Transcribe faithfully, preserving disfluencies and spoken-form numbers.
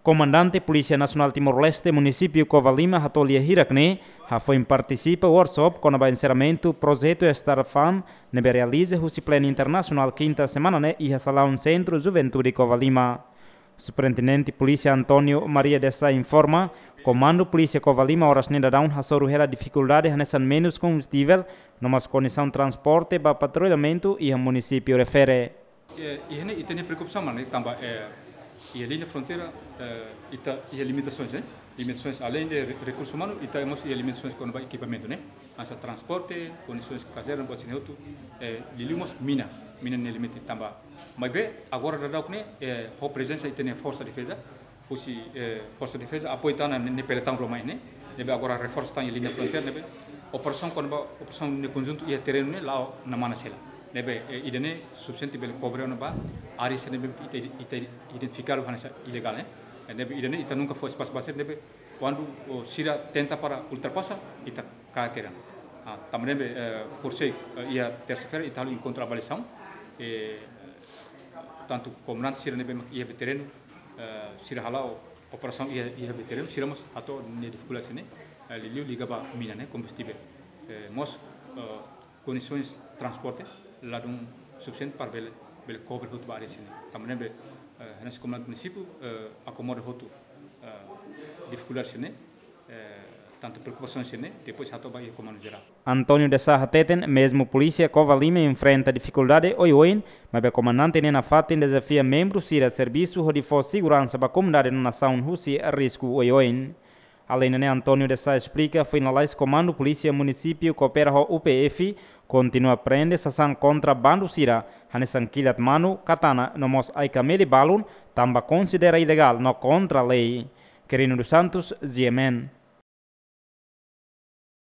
Komandante Polísia Nasionál Timor-Leste, Munisípiu Covalima, hato'o lia hirak ne'e, hafoin partisipa workshop kona-ba enserramentu projetu Star Fund ne'ebé realiza husi Planu Internasionál kinta semana ne'e iha salaun Sentru Juventude Covalima. Superintendente Polísia António Maria de Sá informa, Komandu Polísia Covalima oras ne'e daudaun hasoru hela difikuldade hanesan menus kombustivel, no mós kondisaun transporte ba patrullamentu iha munisípiu refere. Eh, iha ne'e ita-nia preokupasaun mak ne'e tanba, eh, iha liña fronteira, eh, ita iha limitasoens, eh? Limitasoens além de re-, rekursu umanu, ita mós iha limitasoens kona-ba ekipamentu, ne'e? Hanesan transporte, kondisoens kazerna, buat sira-ne'e hotu, eh, liuliu mós mina, mina ne'e limite tanba. Maibé, agora daudauk ne'e, eh, ho prezensa ita-nia Forsa Defeza, husi, eh, Forsa Defeza, apoiu tan ne'e, ne'e pelotão rua mai ne'e, ne'ebé agora reforsa tan iha liña fronteira, ne'ebé operasaun kona-ba, operasaun ne'e konjuntu iha terrenu ne'e la'o namana sela. Ne'ebé, eh, ida-ne'e sufisiente bele kobre ona ba área sira ne'ebé ita, ita identifikadu hanesan ilegál, eh. Ne'ebé ida-ne'e ita nunka fó espasu ba sira, ne'ebé kuandu, oh, sira tenta para ultrapasa, ita kaer kedan. Ah, tanba ne'ebé, eh, horisehik, eh, iha tersa-feira ita halo enkontru avaliasaun, eh, tantu komandante sira ne'ebé mak iha terrenu, eh, sira hala'o operasaun iha, iha terrenu, sira mós hato'o nia difikuldade sira-ne'e, eh, liuliu liga ba mina ne'e, kombustivel. Eh, mós, eh, kondisoens transporte ladún sufisiente para bele, bele kobre hotu ba área sira-ne'e. Tanba ne'ebé, eh, hanesan komandante munisípiu, eh, akomoda hotu, eh, difikuldade sira-ne'e, eh, tantu preokupasaun sira-ne'e, depois hato'o ba iha Komandu Jerál. António de Sá hateten, mezmu Polísia Covalima enfrenta difikuldade oioin, maibé komandante ne'e nafatin dezafia membru sira servisu hodi fó seguransa ba komunidade no nasaun husi risku oioin. Alende ne'e, António de Sá esplika, foin lalais Komandu Polísia Munisípiu koopera ho U P F, kontinua prende sasán kontra bandu sira, hanesan kilat manu, katana, no mós ai-kameli balun, tanba konsidera ilegál no kontra lei. Quirino dos Santos, G M N.